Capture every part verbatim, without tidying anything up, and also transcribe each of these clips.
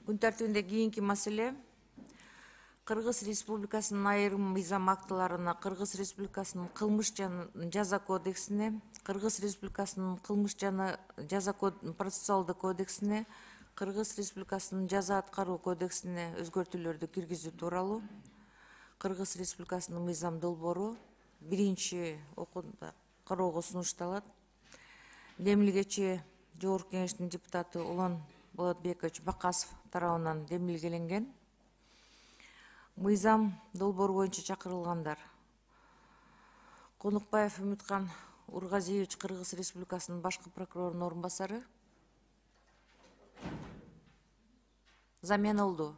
Күн тартибинде кийинки маселе Кыргыз Республикасынын айрым мыйзам актыларына, Кыргыз Республикасынын кылмыш жана жаза кодексине, Кыргыз Республикасынын кылмыш жана жаза процессуалдык кодексине, Кыргыз Республикасынын жаза аткаруу кодексине өзгөртүүлөрдү киргизүү тууралуу Кыргыз Республикасынын мыйзам долбоору биринчи окууда кароого сунушталат. Демилгечи Жогорку Кеңештин депутаты Улан Болотбекович Бакасов тарабынан демилгеленген. Мыйзам долбоору боюнча чакырылгандар: Конукбаев Үмүткан Ургазиевич, Кыргыз Республикасынын башкы прокурорунун орун басары. Замена болду.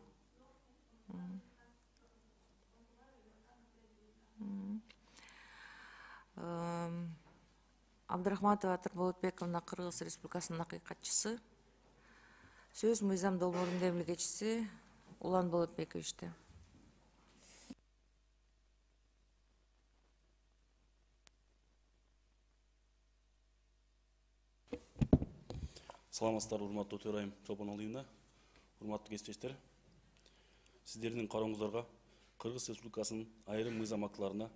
Абдрахматова Атыр Болотбековна, Кыргыз Республикасынын акыйкатчысы. Сөз мыйзам долбоорунун демилгечиси Улан Болотбековичте. Саламатсыздар, урматтуу төрайым Чолпоналыевна, урматтуу кесиптештер. Сиздердин карооңуздарга Кыргыз Республикасынын айрым мыйзам актыларына,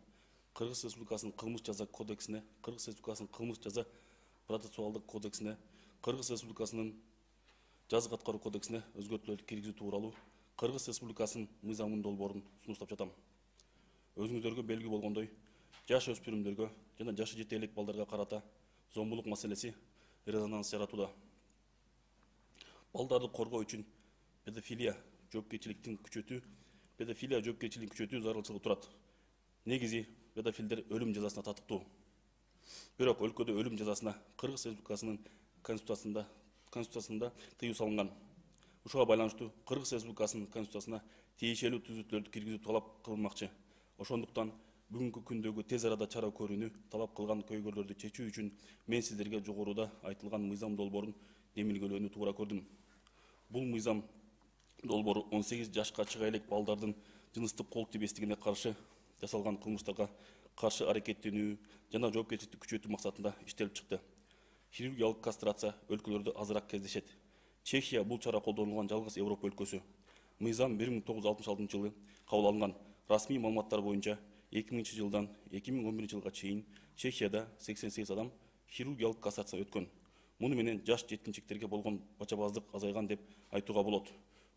Кыргыз Республикасынын кылмыш жаза кодексине, Кыргыз Республикасынын кылмыш жаза процессуалдык кодексине, Кыргыз Республикасынын жаза аткаруу кодексине өзгөртүүлөрдү киргизүү тууралуу Кыргыз Республикасынын мыйзамынын долбоорун сунуштап жатам. Өзүңүздөргө белгилүү болгондой, жаш өспүрүмдөргө жана жашы жете элек балдарга карата зомбулук маселеси резонанс жаратууда. Балдарды коргоо үчүн педофилия жоопкерчиликтин күчөтүү, педофилия жоопкерчилигин күчөтүү зарылчылыгы турат. Негизи педофилдер өлүм жазасына татыктуу. Бирок өлкөдө өлүм жазасына Кыргыз Республикасынын конституциясында конституциясында тыюу салынган. Ушуга байланыштуу Кыргыз Республикасынын конституциясына тиешелүү түзөтүүлөрдү киргизүү талап кылынмакчы. Ошондуктан бүгүнкү күндөгү тез арада чара көрүүнү талап кылган көйгөйлөрдү чечүү үчүн мен сиздерге жогоруда айтылган мыйзам долбоорун демилгелөөнү туура көрдүм. Бул мыйзам долбоору он сегиз жашка чыга элек балдардын жыныстык кол тийбестигине каршы жасалган кылмыштарга каршы аракеттенүү жана жоопкерчиликти күчөтүү максатында иштелип чыкты. Хирургиялык кастрация өлкөлөрдө азыраак кездешет. Чехия бул чара колдонулган жалгыз Европа өлкөсү. Мыйзам бир миң тогуз жүз алтымыш алтынчы жылы кабыл алынган. Расмий маалыматтар боюнча эки миңинчи жылдан эки миң он биринчи жылга чейин Чехияда сексен сегиз адам хирургиялык кастрация өткөн. Муну менен жаш жеткинчектерге болгон бачабаздык азайган деп айтууга болот.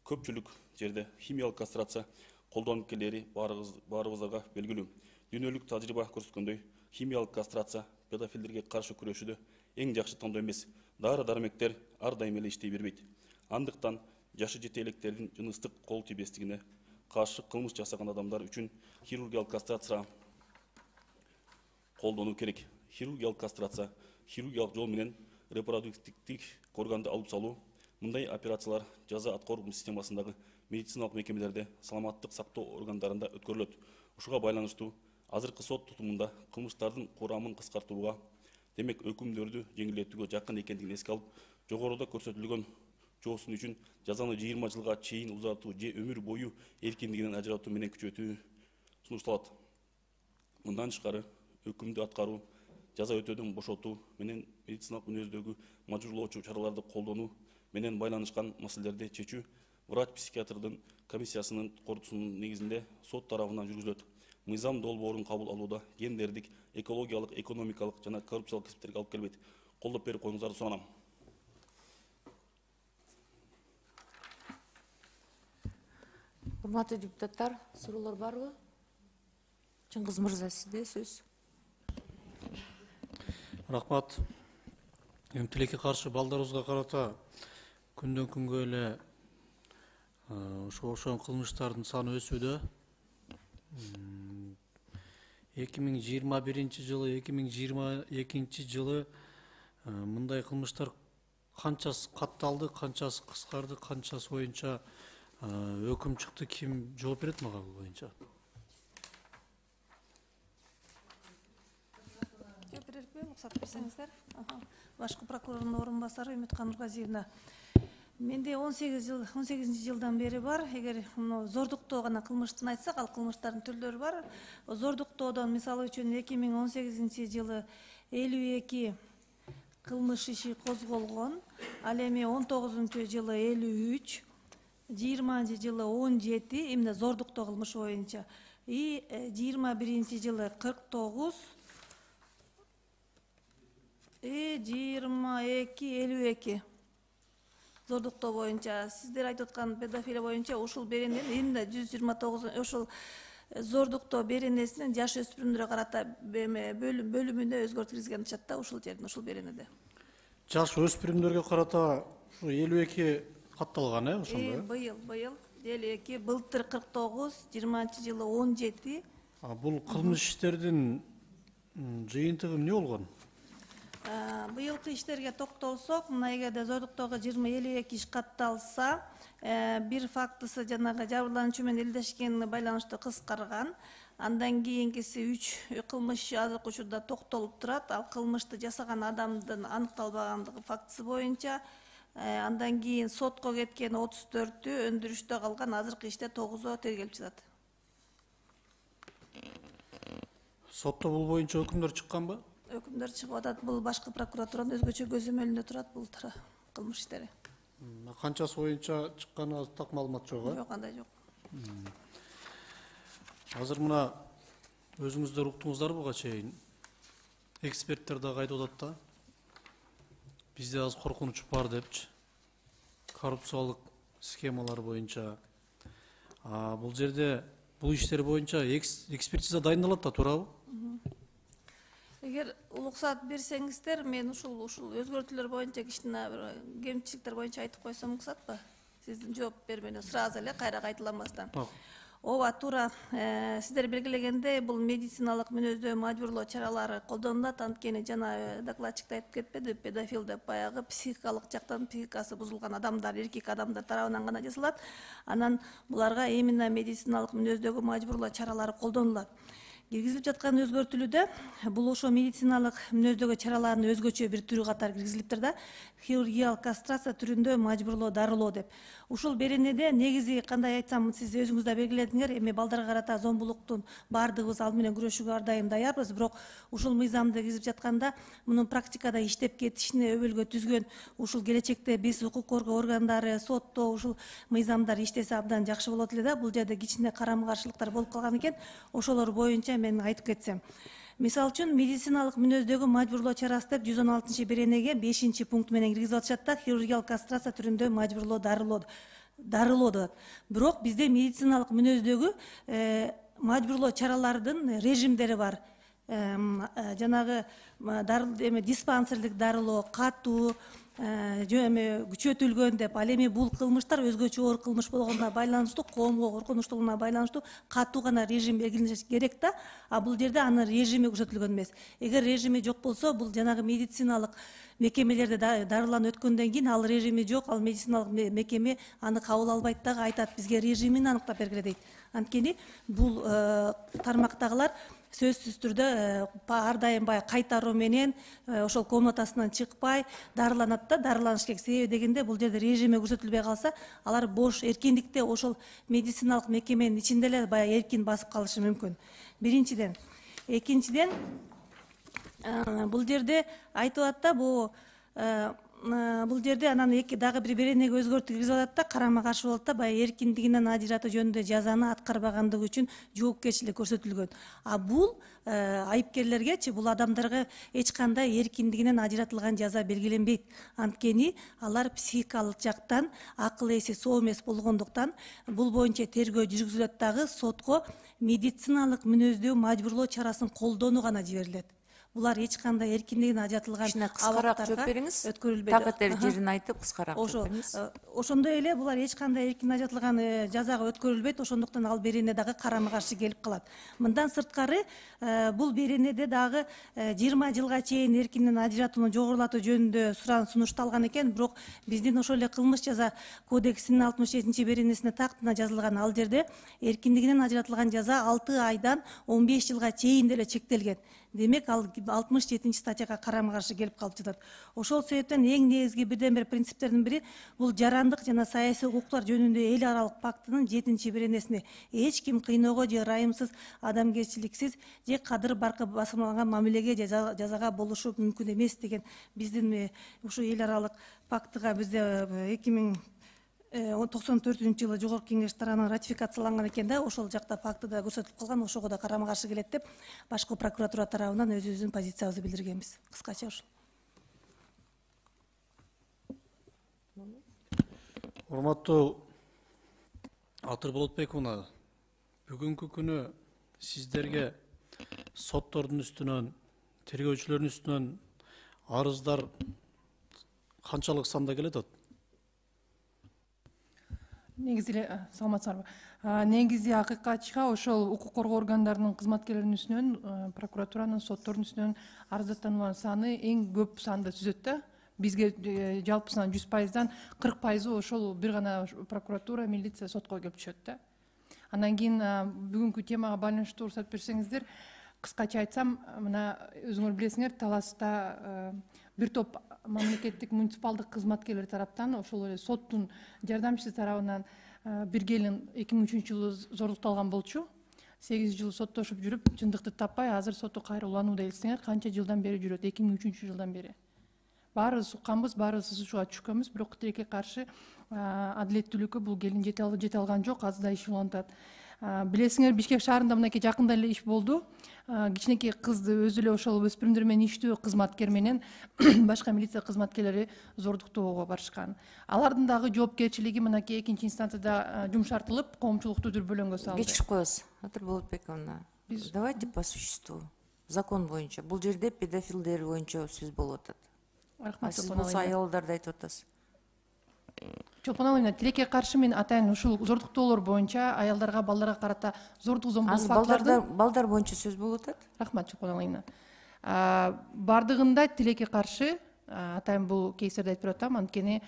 Көпчүлүк жерде химиялык кастрация колдонуп келери баарыбызга белгилүү. Дүйнөлүк тажрыйба көрсөткөндөй, химиялык кастрация педофилдерге каршы күрөшүүдө эң жакшы тандоо эмес. Дары-дармектер ар дайым эле иштей бербейт. Андыктан жашы жете электердин жыныстык кол тийбестигине каршы кылмыш жасаган адамдар үчүн хирургиялык кастрация колдонуу керек. Хирургиялык кастрация хирургиялык жол менен репродуктивдик органды алып салуу. Мындай операциялар жаза аткаруу системасындагы медициналык мекемелерде саламаттык сактоо органдарында өткөрүлөт. Ушуга байланыштуу азыркы сот тутумунда кылмыштардын курамын кыскартууга, демек өкүмдөрдү жеңилдетүүгө жакын экендигин эске алып, жогоруда көрсөтүлгөн жоосун үчүн жазаны жыйырма жылга чейин узартуу же өмүр бою эркиндигинен ажыратуу менен күчөтүү сунушталат. Мындан тышкары өкүмдү аткаруу, жаза өтөөдөн бошотуу менен медициналык мүнөздөгү мажбурлоочу чараларды колдонуу менен байланышкан маселелерди чечүү врач-психиатрдын комиссиясынын корутуусунун негизинде сот тарабынан жүргүзүлөт. Мыйзам долбоорун кабыл алууда гендердик, экологиялык, экономикалык жана коррупциялык кесиптерге алып келбейт. Колдоп берип коюңуздарды суранам. Урматтуу депутаттар, суроолор барбы? Чыңгыз мырза, сизде сөз. Рахмат. Эми тилекке каршы балдарыбызга карата күндөн күнгө эле ошо ошон кылмыштардын саны өсүүдө. эки миң жыйырма биринчи жылы, эки миң жыйырма экинчи жылы мындай кылмыштар канчасы катталды, канчасы кыскарды, канчасы боюнча өкүм чыкты, ким жооп берет мага бул боюнча? Жооп берерби, уруксат берсеңиздер. Башкы прокурордун орун басары Үмүткан Ургазиевна. Менде он сегиз жыл, он сегизинчи жылдан бери бар. Эгер зордуктоо гана кылмыштын айтсак, ал кылмыштардын түрлөрү бар. Зордуктоодон мисалы үчүн эки миң он сегизинчи жылы элүү эки кылмыш иши козголгон. Ал эми он тогузунчу жылы элүү үч, жыйырманчы жылы он жети эмне зордуктоо кылмышы боюнча, и жыйырма биринчи жылы кырк тогуз, и жыйырма эки элүү эки зордуктоо боюнча. Сиздер айтып аткан педофилия боюнча ушул берененин эмне жүз жыйырма тогуз ушул зордуктоо беренесинин жаш өспүрүмдөргө карата бөлүмүнө өзгөртүү киргизген атышат да, ушул жерден, ушул беренеде. Жаш өспүрүмдөргө карата ушу элүү эки катталган, э, ошондо? Быйыл, быйыл элүү эки, былтыр кырк тогуз, жыйырманчы жылы он жети. А бул кылмыш иштердин жыйынтыгы эмне болгон? Быйылкы иштерге токтолсок, мына эгерде зордуктоого жыйырма элүү эки иш катталса, бир фактысы жанагы жабырлануучу менен элдешкенине байланыштуу кыскарган. Андан кийинкиси үч кылмыш азыркы учурда токтолуп турат. Ал кылмышты жасаган адамдын аныкталбагандыгы фактысы боюнча. Андан кийин сотко кеткен отуз төртү, өндүрүштө калган азыркы иште тогузу тергелип жатат. Сотто бул боюнча өкүмдөр чыкканбы? Өкүмдөр чыгып атат. Бул башкы прокуратуранын өзгөчө көзөмөлүндө турат бул кылмыш иштери. Канчасы боюнча чыкканы так маалымат жок, э? Жок, андай жок. Азыр мына өзүңүздөр уктуңуздар буга чейин эксперттер дагы айтып атат да. Бизде аз коркунуч бар депчи. Коррупциялык схемалар боюнча. А бул жерде бул иштер боюнча экспертиза дайындалат да, туурабы? Эгер уруксат берсеңиздер, мен ушул ушул өзгөртүүлөр боюнча кичине бир кемчиликтер боюнча айтып койсом уруксатпы? Сиздин жооп бермеден сразу эле кайра кайталамастан. Ооба, туура. Сиздер белгилегендей, бул медициналык мүнөздөө мажбурлоо чаралары колдонулат. Анткени жана докладчик да айтып кетпеди, педофил деп баягы психикалык жактан психикасы бузулган адамдар, эркек адамдар тарабынан гана жасалат. Анан буларга именно медициналык мүнөздөгү мажбурлоо чаралары колдонулат. Киргизилип жаткан өзгөртүүлүдө бул ошо медициналык мүнөздөгү чаралардын өзгөчө бир түрү катары киргизилиптир да, хирургиялык кастрация түрүндө мажбурлоо дарылоо деп. Ушул беренеде негизи кандай айтсам, сиз өзүңүз да белгиледиңер, эми балдарга карата зомбулуктун баардыгыбыз ал менен күрөшүүгө ар дайым даярбыз, бирок ушул мыйзамды киргизип жатканда мунун практикада иштеп кетишине өбөлгө түзгөн ушул келечекте биз укук коргоо органдары, сотто ушул мыйзамдар иштесе абдан жакшы болот эле да. Бул жерде кичине карама каршылыктар болуп калган экен. Ошолор боюнча мен айтып кетсем. Мисалы үчүн медициналык мүнөздөгү мажбурлоо чарасы деп жүз он алтынчы беренеге бешинчи пункт менен киргизип атышат да, хирургиялык кастрация түрүндө мажбурлоо дарылоо дарылоо деп. Бирок бизде медициналык мүнөздөгү мажбурлоо чаралардын режимдери бар. Жанагы эми диспансерлик дарылоо, катуу, эми күчөтүлгөн деп, ал эми бул кылмыштар өзгөчө оор кылмыш болгонуна байланыштуу, коомго коркунучтуулугуна байланыштуу катуу гана режим белгилениш керек да, а бул жерде анын режими көрсөтүлгөн эмес. Эгер режими жок болсо, бул жанагы медициналык мекемелерде дарыланып өткөндөн кийин ал режими жок, ал медициналык мекеме аны кабыл албайт дагы, айтат бизге режимин аныктап бергиле дейт. Анткени бул тармактагылар сөзсүз түрдө ар дайым баягы кайтаруу менен ошол комнатасынан чыкпай дарыланат да, дарыланыш керек. Себеби дегенде бул жерде режими көрсөтүлбөй калса, алар бош эркиндикте ошол медициналык мекеменин ичинде эле баягы эркин басып калышы мүмкүн. Биринчиден. Экинчиден, бул жерде айтып атат да, бул бул жерде анан эки дагы бир беренеге өзгөртүү киргизип атат да, карама каршы болот да, баягы эркиндигинен ажыратуу жөнүндө жазаны аткарбагандыгы үчүн жоопкерчилик көрсөтүлгөн. А бул айыпкерлергечи, бул адамдарга эч кандай эркиндигинен ажыратылган жаза белгиленбейт. Анткени алар психикалык жактан акыл эси соо эмес болгондуктан бул боюнча тергөө жүргүзүлөт дагы, сотко медициналык мүнөздүү мажбурлоо чарасын колдонуу гана жиберилет. Булар эч кандай эркиндигинен ажыратылган кыскараак жооп бериңиз. Такыр жерин айтып кыскараак жооп бериңиз. Ошондой эле булар эч кандай эркиндигинен ажыратылган жазага өткөрүлбөйт, ошондуктан ал берене дагы карама каршы келип калат. Мындан сырткары бул беренеде дагы жыйырма жылга чейин эркиндигинен ажыратууну жогорулатуу жөнүндө суран сунушталган экен, бирок биздин ошол эле кылмыш жаза кодексинин алтымыш жетинчи беренесине тактына жазылган, ал жерде эркиндигинен ажыратылган жаза алты айдан он беш жылга чейин деле чектелген. Демек, ал алтымыш жетинчи статьяга карама каршы келип калып жатат. Ошол себептен эң негизги бирден бир принциптердин бири бул жарандык жана саясий укуктар жөнүндө эл аралык пактынын жетинчи беренесине эч ким кыйноого же ырайымсыз, адамгерчиликсиз же кадыр баркы басылмаган мамилеге жазага болушу мүмкүн эмес деген биздин ушу эл аралык пактыга бизде эки миң токсон төртүнчү жылы Жогорку Кеңеш тарабынан ратификацияланган экен да, ошол жакта фактыда көрсөтүлүп калган, ошого да карама каршы келет деп башкы прокуратура тарабынан өзүбүздүн позициябызды билдиргенбиз. Кыскача ушул. Урматтуу Атыр Болотбековна, бүгүнкү күнү сиздерге соттордун үстүнөн, тергөөчүлөрдүн үстүнөн арыздар канчалык санда келет атат? Негизи эле саламатсыздарбы. Негизи акыйкатчыга ошол укук коргоо органдарынын кызматкерлеринин үстүнөн, прокуратуранын, соттордун үстүнөн арыздаттуулардын саны эң көп санды түзөт да. Бизге жалпысынан жүз пайыздан кырк пайызы ошол бир гана прокуратура, милиция, сотко келип түшөт да. Андан кийин бүгүнкү темага байланыштуу уруксат берсеңиздер, кыскача айтсам, мына өзүңөр билесиңер, Таласта бир топ мамлекеттик муниципалдык кызматкерлер тараптан, ошол эле соттун жардамчысы тарабынан бир келин эки миң үчүнчү жылы зордукталган болчу. сегиз жыл соттошуп жүрүп, чындыкты таппай, азыр сотто кайра уланууда элестеңер, канча жылдан бери жүрөт? эки миң үчүнчү жылдан бери. Баарыбыз укканбыз, баарыбыз ССУга түшкөнбүз, бирок тилекке каршы адилеттүүлүккө бул келин жете алган жок, азыр да иш уланып атат. Билесиңер, Бишкек шаарында мынакей жакында эле иш болду. Кичинекей кызды өзү эле ошол өспүрүмдөр менен иштөө кызматкер менен башка милиция кызматкерлери зордуктоого барышкан. Алардын дагы жоопкерчилиги мынакей экинчи инстанцияда жумшартылып, коомчулукту дүрбөлөңгө салды. Кечирип коебуз, Атыр Болотбековна. Давайте по существу. Закон боюнча. Бул жерде педофилдер боюнча сөз болуп атат. Рахмат. Сиз болсо аялдарды айтып атасыз. Чолпон Алина, тилекке каршы мен атайын ушул зордуктоолор боюнча аялдарга, балдарга карата зордук зомбулук фактыларды балдар боюнча сөз болуп атат. Рахмат, Чолпон Алина. Бардыгында тилекке каршы атайын бул кейстерди айтып атам, анткени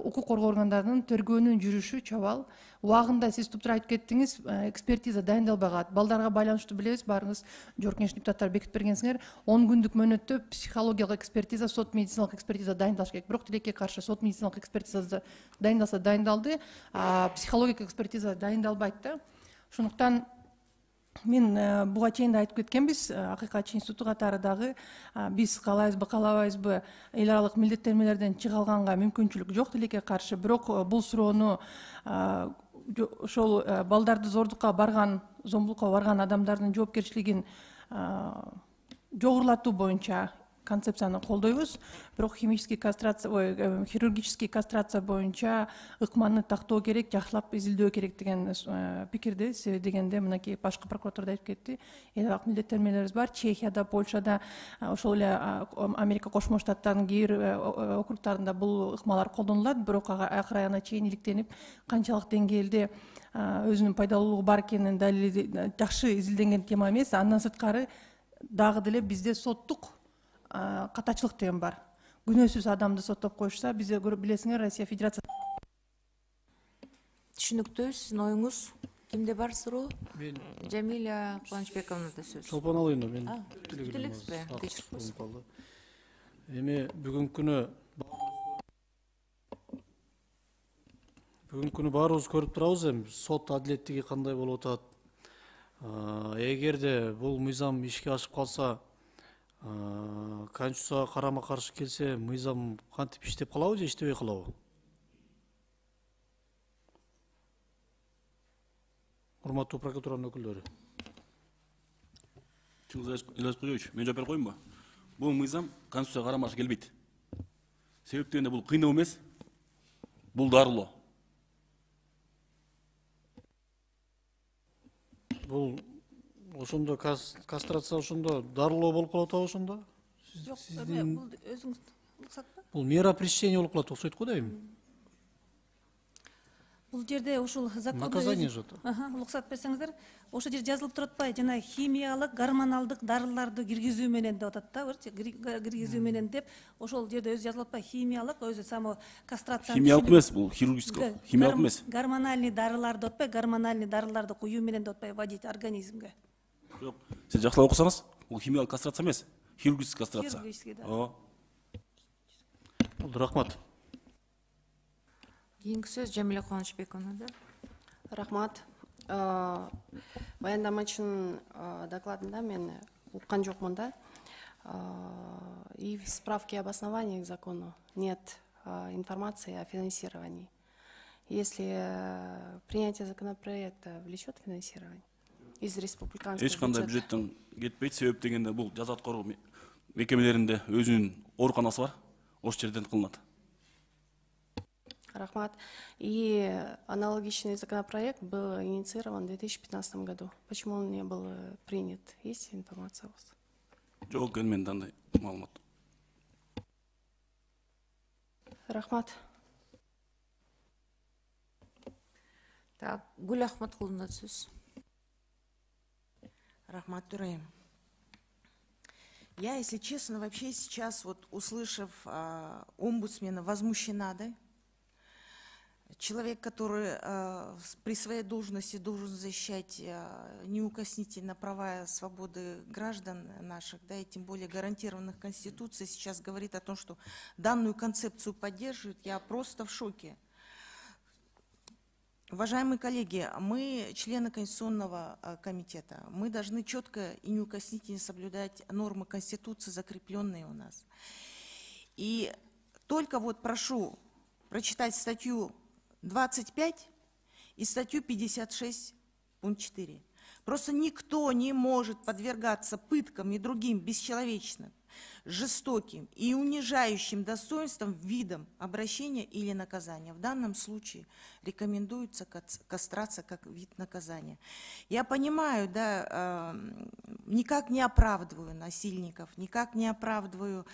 укук коргоо органдарынын тергөөнүн жүрүшү чабал. Убагында сиз туптура айтып кеттиңиз, экспертиза дайындалбаган. Балдарга байланыштуу билебиз, баарыңыз Жогорку Кеңеш депутаттары бекитип бергенсиңер, он күндүк мөөнөттө психологиялык экспертиза, сот медициналык экспертиза дайындалыш керек. Бирок тилекке каршы сот медициналык экспертизасы дайындалса дайындалды, психологиялык экспертиза дайындалбайт да. Ошондуктан мен буга чейин да айтып кеткенбиз, акыйкатчы институту катары дагы биз каалайбызбы, каалабайбызбы, эл аралык милдеттенмелерден чыга алганга мүмкүнчүлүк жок тилекке каршы. Бирок бул суроону ошол балдарды зордукка барган, зомбулукка барган адамдардын жоопкерчилигин жогорулатуу боюнча концепцияны колдойбуз. Бирок химический кастрация, ой, хирургический кастрация боюнча ыкманы тактоо керек, жакшылап изилдөө керек деген пикирде, себеби дегенде мынакей башкы прокуратура да айтып кетти. Эл аралык милдеттенмелерибиз бар. Чехияда, Польшада, ошол эле Америка Кошмо Штаттарынын кээ бир округтарында бул ыкмалар колдонулат, бирок акыр аягына чейин иликтенип, канчалык деңгээлде өзүнүн пайдалуулугу бар экенин далили жакшы изилденген тема эмес. Андан сырткары дагы деле бизде соттук катачылык деген бар. Күнөөсүз адамды соттоп коюшса, бизде билесиңер, Россия Федерациясы. Түшүнүктүү, сиздин оюңуз кимде бар суроо? Мен Жамиля Кубанычбековнада сөз. Чолпон Алина, мен бүтүлексизби? Кечирип коесуз. Эми бүгүнкү күнү бүгүнкү күнү баарыбыз көрүп турабыз, эми сот адилеттиги кандай болуп атат. Эгерде бул мыйзам ишке ашып калса, Конституцияга карама каршы келсе, мыйзам кантип иштеп калабы же иштебей калабы? Урматтуу прокуратуранын өкүлдөрү. Чыңгыз Ильяс Куйович, мен жооп берип коеюнбу? Бул мыйзам Конституцияга карама каршы келбейт. Себеп дегенде бул кыйноо эмес, бул дарылоо. Бул ошондо кастрация ошондо дарылоо болуп калып атабы ошондо? Жок, эме бул өзүңүз уруксатпы? Бул мера пресечения болуп калат окшойт го дейм. Бул жерде ушул закондо наказание же это. уруксат берсеңиздер, ошол жерде жазылып турат атпайбы, жана химиялык, гормоналдык дарыларды киргизүү менен деп атат да, киргизүү менен деп, ошол жерде өзү жазылып атпайбы, химиялык, өзү само кастрация. Химиялык эмес, бул хирургический, химиялык эмес. Гормональный дарылар деп атпайбы, гормональный дарыларды куюу менен деп атпайбы, вводить организмге. Жок, сиз жакшылап окусаңыз, бул химиялык кастрация эмес, хирургический кастрация. Хирургический, да. Ооба. Рахмат. Кийинки сөз Жамиля Кубанычбековнада. Рахмат. Баяндамачынын докладында мен уккан жокмун да. И в справке об основании к закону нет информации о финансировании. если э, принятие законопроекта влечет финансирование из республиканского эч кандай бюджета. бюджеттен кетпейт. Себеп дегенде бул жаза аткаруу мекемелеринде өзүнүн ооруканасы бар, ошол жерден кылынат. Рахмат. И аналогичный законопроект был инициирован в две тысячи пятнадцатом году. Почему он не был э, принят? Есть информация у вас? Жок, менде андай маалымат. Рахмат. Так, Гүл Ахматкуловна сөз. Рахмат Тураим. Я, если честно, вообще сейчас, вот услышав а, омбудсмена, возмущена, да? Человек, который а, при своей должности должен защищать а, неукоснительно права и свободы граждан наших, да, и тем более гарантированных Конституцией, сейчас говорит о том, что данную концепцию поддерживает, я просто в шоке. Уважаемые коллеги, мы, члены Конституционного а, комитета, мы должны четко и неукоснительно соблюдать нормы Конституции, закрепленные у нас. И только вот прошу прочитать статью двадцать пять и статью пятьдесят шесть, пункт четыре. Просто никто не может подвергаться пыткам и другим бесчеловечным, жестоким и унижающим достоинством видам обращения или наказания. В данном случае рекомендуется кастрация как вид наказания. Я понимаю, да, никак не оправдываю насильников, никак не оправдываю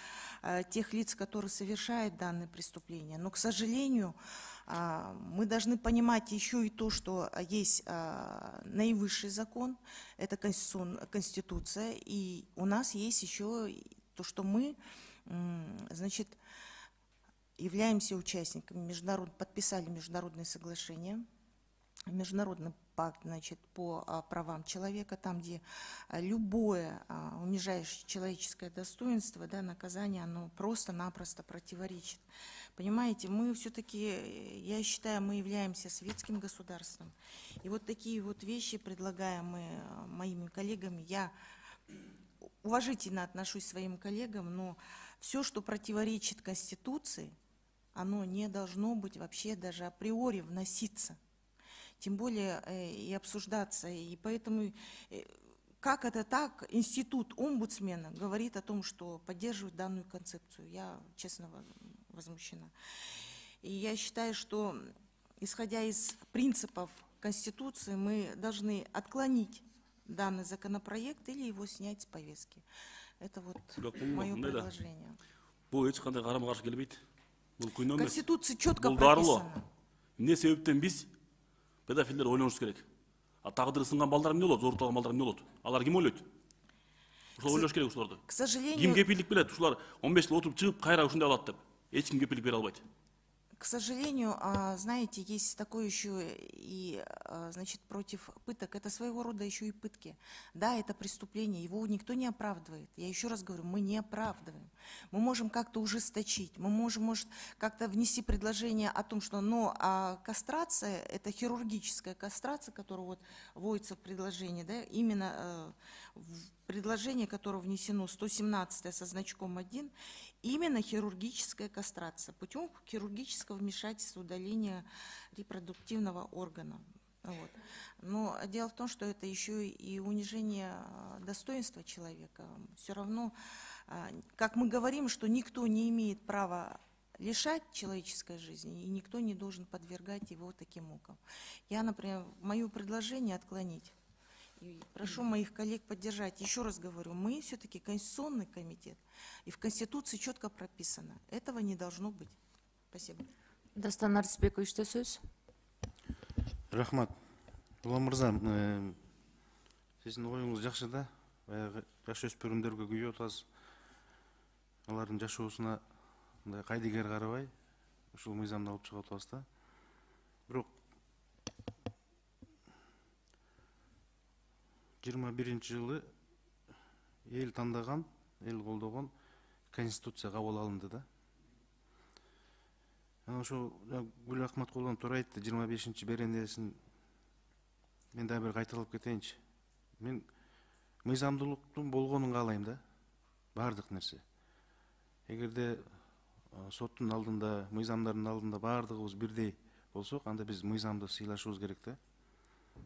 тех лиц, которые совершают данные преступления, но, к сожалению, мы должны понимать еще и то, что есть наивысший закон, это Конституция, и у нас есть еще то, что мы, значит, являемся участниками, международ, подписали международные соглашения, международный пакт, значит, по а, правам человека, там, где а, любое а, унижающее человеческое достоинство, да, наказание, оно просто-напросто противоречит. Понимаете, мы все-таки, я считаю, мы являемся светским государством. И вот такие вот вещи, предлагаемые моими коллегами, я уважительно отношусь к своим коллегам, но все, что противоречит Конституции, оно не должно быть вообще даже априори вноситься. Тем более э, и обсуждаться. И поэтому, э, как это так, институт омбудсмена говорит о том, что поддерживает данную концепцию. Я, честно, возмущена. И я считаю, что, исходя из принципов Конституции, мы должны отклонить данный законопроект или его снять с повестки. Это вот мое предложение. В Конституции четко прописано. Эмне себептен биз педофилдер ойлонуш керек? А тагдыры сынган балдар эмне болот? Зорутулган балдар эмне болот? Алар ким ойлойт? Ошол ойлош керек ушуларды. К сожалению, Ким кепилдик берет? Ушулар он беш жыл отуруп чыгып, кайра ушундай алат деп. Эч ким кепилдик бере албайт. К сожалению, знаете, есть такое еще и, значит, против пыток. Это своего рода еще и пытки. Да, это преступление, его никто не оправдывает. Я еще раз говорю, мы не оправдываем. Мы можем как-то ужесточить, мы можем, может, как-то внести предложение о том, что, но а кастрация, это хирургическая кастрация, которая вот вводится в предложении, да, именно э, в предложение, которое внесено сто семнадцатое со значком один, именно хирургическая кастрация путем хирургического вмешательства, удаления репродуктивного органа. Вот. Но дело в том, что это еще и унижение достоинства человека. Все равно, как мы говорим, что никто не имеет права лишать человеческой жизни, и никто не должен подвергать его таким мукам. Я, например, мое предложение отклонить. И прошу моих коллег поддержать. Еще раз говорю, мы все-таки Конституционный комитет, и в Конституции четко прописано. Этого не должно быть. Спасибо. Дастан Арсбекович, сөз. Рахмат. Улан мырза, сиздин оюңуз жакшы да. Баягы жаш өспүрүмдөргө күйөө атасыз. Алардын жашоосуна мындай кайдыгер карабай, ушул мыйзамды алып чыгып атабыз да. Бирок жыйырма биринчи жылы эл тандаган, эл колдогон Конституция кабыл алынды да. Анан ошо Гүл Ахматкуловна туура айтты, жыйырма бешинчи беренесин мен дагы бир кайталап кетейинчи. Мен мыйзамдуулуктун болгонун каалайм да. Бардык нерсе. Эгерде соттун алдында, мыйзамдардын алдында бардыгыбыз бирдей болсок, анда биз мыйзамды сыйлашыбыз керек да.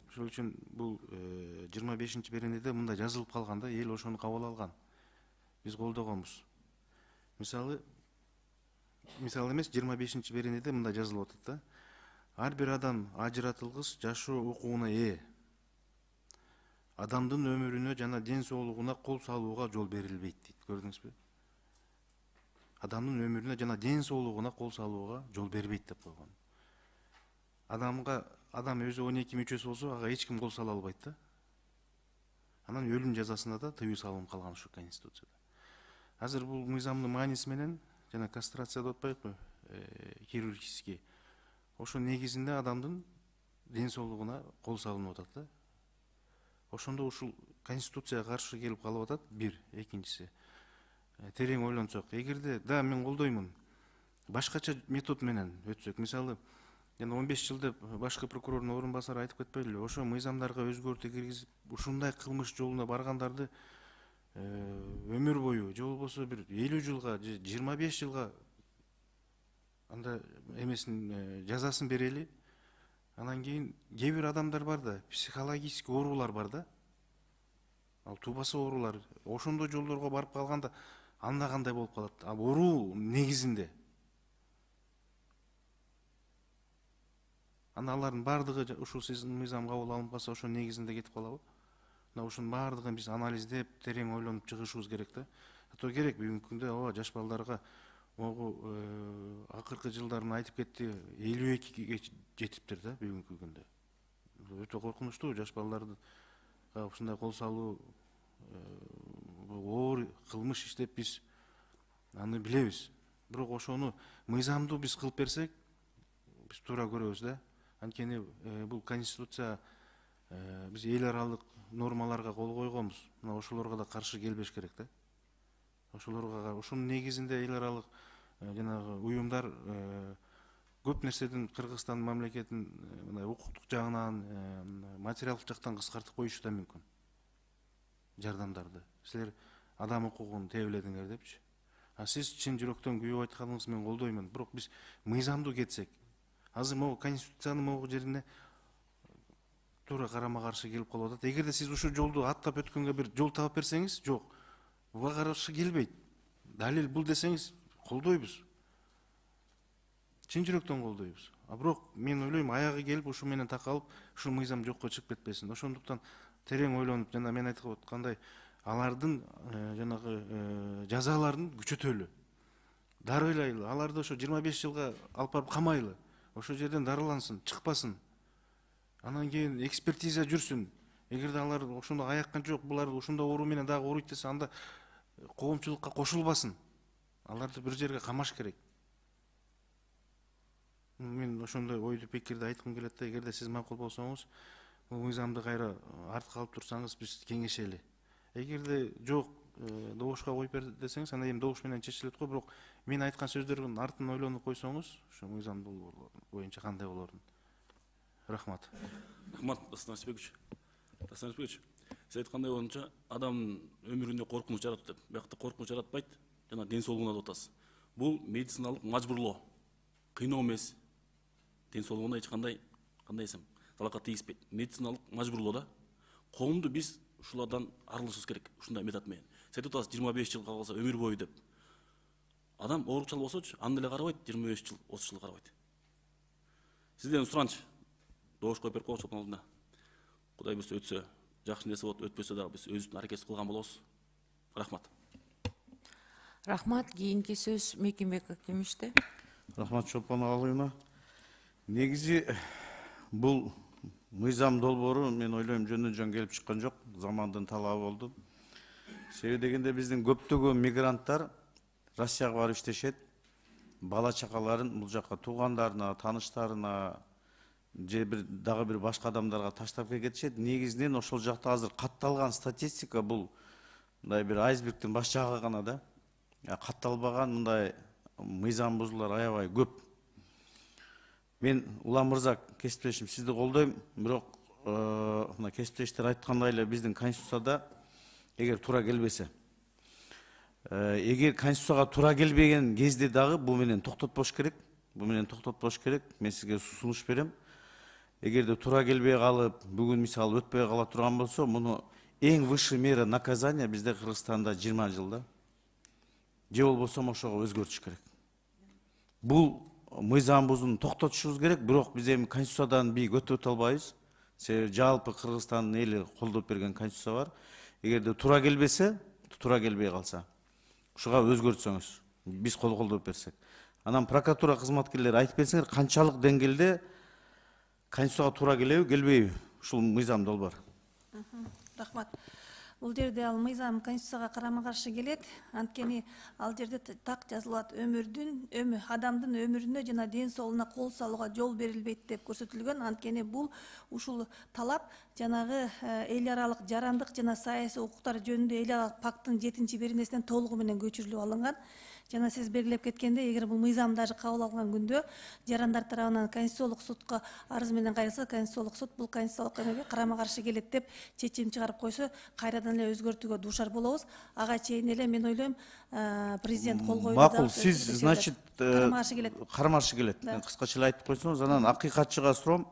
Ошол үчүн бул жыйырма бешинчи беренеде мындай жазылып калган да, эл ошону кабыл алган. Биз колдогонбуз. Мисалы, мисалы эмес, жыйырма бешинчи беренеде мындай жазылып атат да. Ар бир адам ажыратылгыс жашоо укугуна ээ. Адамдын өмүрүнө жана ден соолугуна кол салууга жол берилбейт дейт. Көрдүңүзбү? Адамдын өмүрүнө жана ден соолугуна кол салууга жол бербейт деп койгон. Адамга адам өзү он эки мүчөсү болсо, ага эч ким кол сала албайт да. Анан өлүм жазасына да тыюу салынып калган ушу Конституцияда. Азыр бул мыйзамдын мааниси менен жана кастрация деп атпайбы, хирургический. Ошо негизинде адамдын ден соолугуна кол салынып атат да. Ошондо ушул Конституцияга каршы келип калып атат. Бир, экинчиси. Терең ойлонсок, эгерде да мен колдоймун, башкача метод менен өтсөк, мисалы, жана он беш жыл деп башкы прокурордун орун басары айтып кетпейлиби? Ошо мыйзамдарга өзгөртүү киргизип, ушундай кылмыш жолуна баргандарды өмүр бою же болбосо бир элүү жылга же жыйырма беш жылга анда эмесин жазасын берели. Анан кийин кээ бир адамдар бар да, психологический оорулар бар да. Ал туубасы оорулар. Ошондой жолдорго барып калганда анда кандай болуп калат? А оору негизинде. Анда алардын бардыгы ушул сиздин мыйзам кабыл алынып калса, ошо негизинде кетип калабы? Мына ушунун бардыгын биз анализдеп, терең ойлонуп чыгышыбыз керек да. Ато керек бүгүнкү күндө ооба жаш балдарга могу акыркы жылдарын айтып кетти, элүү экиге жетиптир да бүгүнкү күндө. Өтө коркунучтуу жаш балдарды ушундай кол салуу, оор кылмыш иштеп биз аны билебиз. Бирок ошону мыйзамдуу биз кылып берсек, биз туура көрөбүз да. Анткени бул Конституция биз эл аралык нормаларга кол койгонбуз. Мына ошолорго да каршы келбеш керек да. Ошолорго ошонун негизинде эл аралык жанагы уюмдар көп нерседен Кыргызстан мамлекетин мындай укуктук жагынан, материалдык жактан кыскартып коюшу да мүмкүн. Жардамдарды. Силер адам укугун тебеледиңер депчи. А сиз чын жүрөктөн күйүп айтканыңыз мен колдоймун. Бирок биз мыйзамдуу кетсек, азыр могу Конституциянын могу жерине туура карама каршы келип калып атат. Эгерде сиз ушул жолду аттап өткөнгө бир жол таап берсеңиз, жок. Буга каршы келбейт. Далил бул десеңиз, колдойбуз. Чын жүрөктөн колдойбуз. А бирок мен ойлойм, аягы келип ушу менен такалып, ушул мыйзам жокко чыгып кетпесин. Ошондуктан терең ойлонуп, жана мен айтып аткандай, алардын жанагы жазаларын күчөтөлү. Дарылайлы, аларды ошо жыйырма беш жылга алып барып камайлы. Ошол жерден дарылансын, чыкпасын. Анан кийин экспертиза жүрсүн. Эгерде алар ошондо аяккан жок, булар ушундай оору менен дагы ооруйт десе, анда коомчулукка кошулбасын. Аларды бир жерге камаш керек. Мен ошондой ойду пикирди айткым келет да, эгерде сиз макул болсоңуз, бул мыйзамды кайра артка алып турсаңыз, биз кеңешели. Эгерде жок, добушка коюп бер десеңиз, анда эми добуш менен чечилет го, бирок мен айткан сөздөрдүн артын ойлонуп койсоңуз, ошо мыйзам боюнча кандай болорун. Рахмат. Рахмат, Дастан Арсбекович. Дастан Арсбекович, сиз айткандай боюнча адамдын өмүрүндө коркунуч жаратат деп. Биякта коркунуч жаратпайт, жана ден соолугуна деп атасыз. Бул медициналык мажбурлоо. Кыйноо эмес. Ден соолугуна эч кандай кандай десем, талакат тийиспейт. Медициналык мажбурлоо да. Коомду биз ушулардан арылышыбыз керек, ушундай метод менен. Сиз айтып атасыз, жыйырма беш жыл калса өмүр бою деп. Адам оорукчал болсочу, аны деле карабайт, жыйырма беш жыл, отуз жыл карабайт. Сизден сураныч, добуш коюп берип коелучу алдында. Кудай буйрса өтсө, жакшы нерсе болот, өтпөсө дагы биз өзүбүздүн аракет кылган болобуз. Рахмат. Рахмат. Кийинки сөз Мекенбек Акимиште. Рахмат Чолпон Агалыевна. Негизи бул мыйзам долбоору мен ойлойм жөндөн жөн келип чыккан жок, замандын талабы болду. Себеби дегенде биздин көптөгөн мигранттар Россияга барып иштешет, бала чакаларын бул жакка туугандарына, тааныштарына же бир дагы бир башка адамдарга таштап кетишет. Негизинен ошол жакта азыр катталган статистика бул мындай бир айсбергдин баш жагы гана да. Катталбаган мындай мыйзам бузуулар аябай көп. Мен Улам мырза кесиптешим сизди колдойм, бирок мына кесиптештер айткандай эле биздин Конституцияда эгер туура келбесе, эгер Конституцияга туура келбеген кезде дагы бул менен токтотпош керек. Бу менен токтотпош керек. Мен сизге сунуш берем. Эгерде туура келбей калып, бүгүн мисалы өтпөй кала турган болсо, муну эң высший мера наказания бизде Кыргызстанда жыйырма жылда. Же болбосо ошого өзгөртүш керек. Бул мыйзам бузууну токтотушубуз керек, бирок биз эми конституциядан бийик өтө албайбыз. Себеби жалпы Кыргызстандын эли колдоп берген конституция бар. Эгерде туура келбесе, туура келбей калса, ушуга өзгөртсөңүз, биз кол колдоп берсек. Анан прокуратура кызматкерлери айтып берсеңер, канчалык деңгээлде конституцияга туура келеби, келбейби ушул мыйзам долбоор. Рахмат. Бул жерде ал мыйзам конституцияга карама каршы келет. Анткени ал жерде так жазылат, өмүрдүн, өмү адамдын өмүрүнө жана ден соолугуна кол салууга жол берилбейт деп көрсөтүлгөн. Анткени бул ушул талап жанагы эл аралык жарандык жана саясий укуктар жөнүндө эл аралык пакттын жетинчи беренесинен толугу менен көчүрүлүп алынган. Жана сиз белгилеп кеткендей, эгер бул мыйзам даже кабыл алынган күндө жарандар тарабынан конституциялык судка арыз менен кайрылса, конституциялык суд бул конституциялык эмеге карама каршы келет деп чечим чыгарып койсо, кайрадан эле өзгөртүүгө дуушар болобуз. Ага чейин эле мен ойлойм, президент кол коюу. Макул, сиз, значит, карама каршы келет. Карама каршы келет. Мен кыскача эле айтып койсоңуз, анан акыйкатчыга суроом.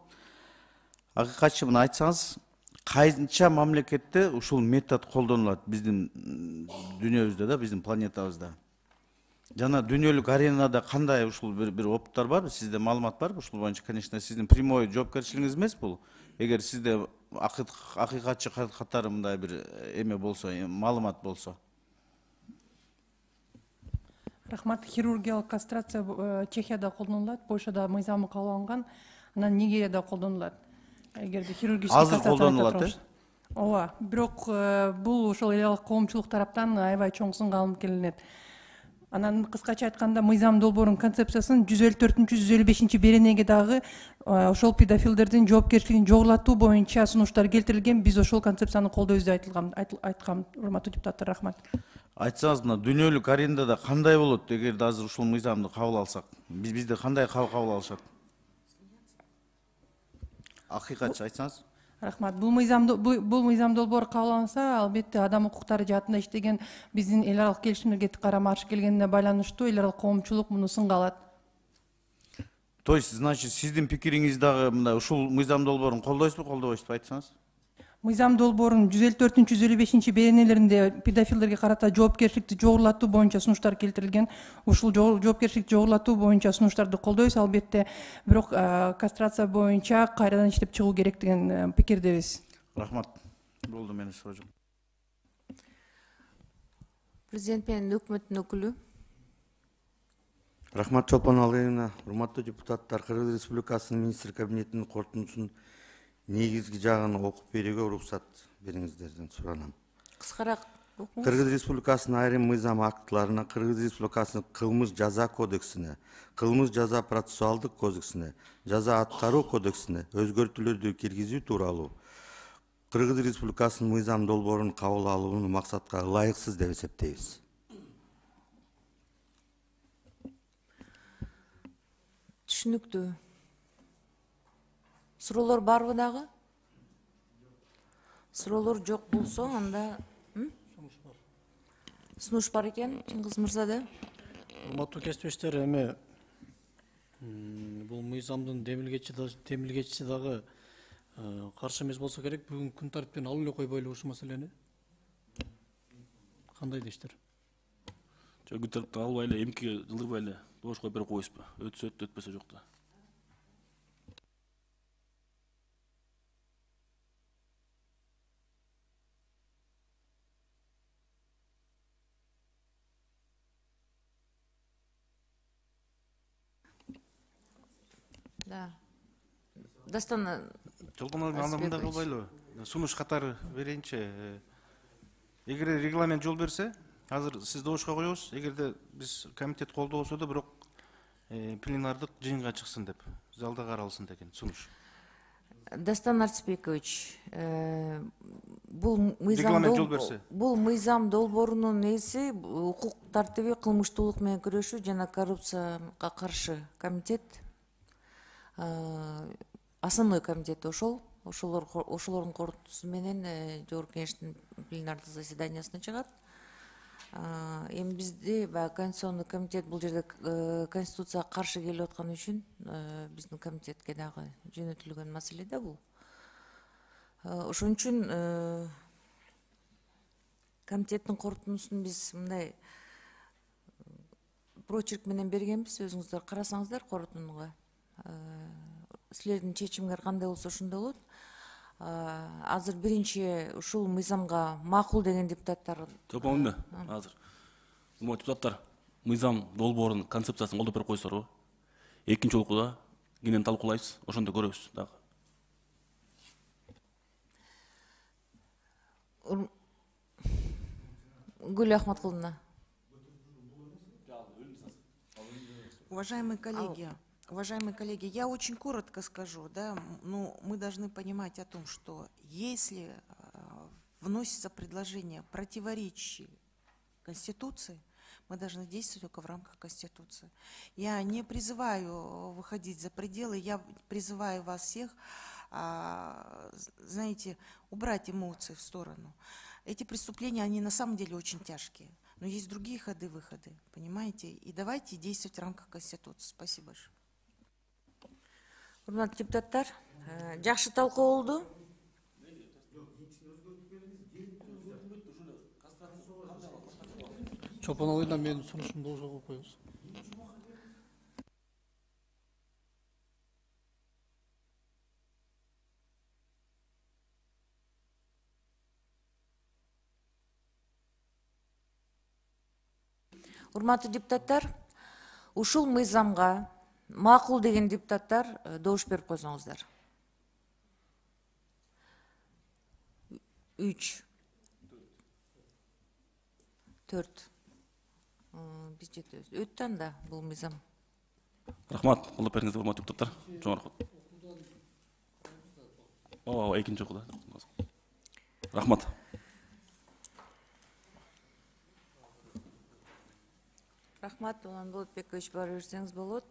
Акыйкатчы мына айтсаңыз, кайча мамлекетте ушул метод колдонулат биздин дүйнөбүздө да, биздин планетабызда? Жана дүйнөлүк аренада кандай ушул бир бир опыттар барбы? Сизде маалымат барбы? Ушул боюнча, конечно, сиздин прямой жоопкерчилигиңиз эмес бул. Эгер сизде акыйкатчы катары мындай бир эме болсо, маалымат болсо. Рахмат. Хирургиялык кастрация Чехияда колдонулат, Польшада мыйзамы кабыл алынган, анан Нигерияда колдонулат. Эгерде хирургический азыр колдонулат, э? Ооба, бирок бул ошол эл аралык коомчулук тараптан аябай чоң сынга алынып келинет. Анан кыскача айтканда, мыйзам долбоорунун концепциясын жүз элүү төртүнчү жүз элүү бешинчи беренеге дагы ошол педофилдердин жоопкерчилигин жогорулатуу боюнча сунуштар келтирилген. Биз ошол концепцияны колдойбуз деп айтылган, айткам, урматтуу депутаттар, рахмат. Айтсаңыз, мына дүйнөлүк арендада кандай болот эгерде азыр ушул мыйзамды кабыл алсак? Биз бизде кандай кабыл алышат? Акыйкатчы айтсаңыз. Рахмат. Бул мыйзам бул мыйзам долбоор кабыл алынса, албетте адам укуктары жаатында иштеген биздин эл аралык келишимдерге карама каршы келгенине байланыштуу эл аралык коомчулук муну сынга алат. То есть, значит, сиздин пикириңиз дагы мындай ушул мыйзам долбоорун колдойсузбу, колдобойсузбу, айтсаңыз? Мыйзам долбоорунун жүз элүү төртүнчү жүз элүү бешинчи беренелеринде педофилдерге карата жоопкерчиликти жогорулатуу боюнча сунуштар келтирилген. Ушул жоопкерчиликти жогорулатуу боюнча сунуштарды колдойбуз, албетте, бирок кастрация боюнча кайрадан иштеп чыгуу керек деген пикирдебиз. Рахмат. Болду, менин суроо жок. Президент менен өкмөттүн өкүлү. Рахмат Чолпон Алыевна, урматтуу депутаттар, Кыргыз Республикасынын министр кабинетинин корутундусунун негизги жагын окуп берүүгө уруксат бериңиздерден суранам. Кыскараак окуңуз. Кыргыз Республикасынын айрым мыйзам актыларына, Кыргыз Республикасынын кылмыш жаза кодексине, кылмыш жаза процессуалдык кодексине, жаза аткаруу кодексине өзгөртүүлөрдү киргизүү тууралуу Кыргыз Республикасынын мыйзам долбоорун кабыл алууну максатка ылайыксыз деп эсептейбиз. Түшүнүктүү. Суроолор барбы дагы? Суроолор жок болсо, анда сунуш бар экен, Чыңгыз мырза да. Урматтуу кесиптештер, эми бул мыйзамдын демилгечиси дагы каршы эмес болсо керек, бүгүн күн тартиптен алып эле койбойлу ушул маселени. Кандай дейсиздер? Жок, күн тартиптен албай эле, эмки жылдырбай эле добуш коюп берип коебузбу? Өтсө өттү, өтпөсө жок да. Да. Дастан Чолпон Алыевна, анда мындай кылбайлыбы? Сунуш катары берейинчи. Эгер регламент жол берсе, азыр сиз добушка коебуз. Эгерде биз комитет колдобосо да, бирок пленардык жыйынга чыксын деп, залда каралсын деген сунуш. Дастан Арцбекович, бул регламент жол берсе. Бул мыйзам долбоорунун несі укук тартиби, кылмыштуулук менен күрөшүү жана коррупцияга каршы комитет, основной комитет ошол, ошолордун корутуусу менен жогорку кеңештин пленардык заседаниясына чыгат. А, эми бизди баягы конституционный комитет бул жерде э, конституцияга каршы келип атканы үчүн э, биздин комитетке дагы жөнөтүлгөн маселе да бул. Э, ошон үчүн э, комитеттин корутундусун биз мындай прочерк менен бергенбиз, өзүңүздөр карасаңыздар корутундуга. Силердин чечимиңер кандай болсо ошондой болот. Азыр биринчи ушул мыйзамга макул деген депутаттар. Топоңда азыр. Мо депутаттар мыйзам долбоорунун концепциясын колдоп берип койсорбу? Экинчи окууда кенен талкуулайбыз, ошондо көрөбүз дагы. Гүл Ахматкуловна. Уважаемые коллеги, уважаемые коллеги, я очень коротко скажу, да, ну, мы должны понимать о том, что если э, вносится предложение, противоречащее Конституции, мы должны действовать только в рамках Конституции. Я не призываю выходить за пределы, я призываю вас всех, э, знаете, убрать эмоции в сторону. Эти преступления, они на самом деле очень тяжкие. Но есть другие ходы-выходы, понимаете? И давайте действовать в рамках Конституции. Спасибо большое. Урматтуу депутаттар, жакшы талкуу болду. Чопоновойдон менин сунушумду болжол кылып коебуз. Урматтуу депутаттар, ушул мыйзамга макул деген депутаттар добуш берип койсоңуздар. Үч. Төрт. Биз жетебиз. Өттү анда бул мыйзам. Рахмат, колдоп бериңиздер, урматтуу депутаттар. Жогорку. Ооба, экинчи окууда. Рахмат. Рахмат, Улан Болотбекович, бара берсеңиз болот.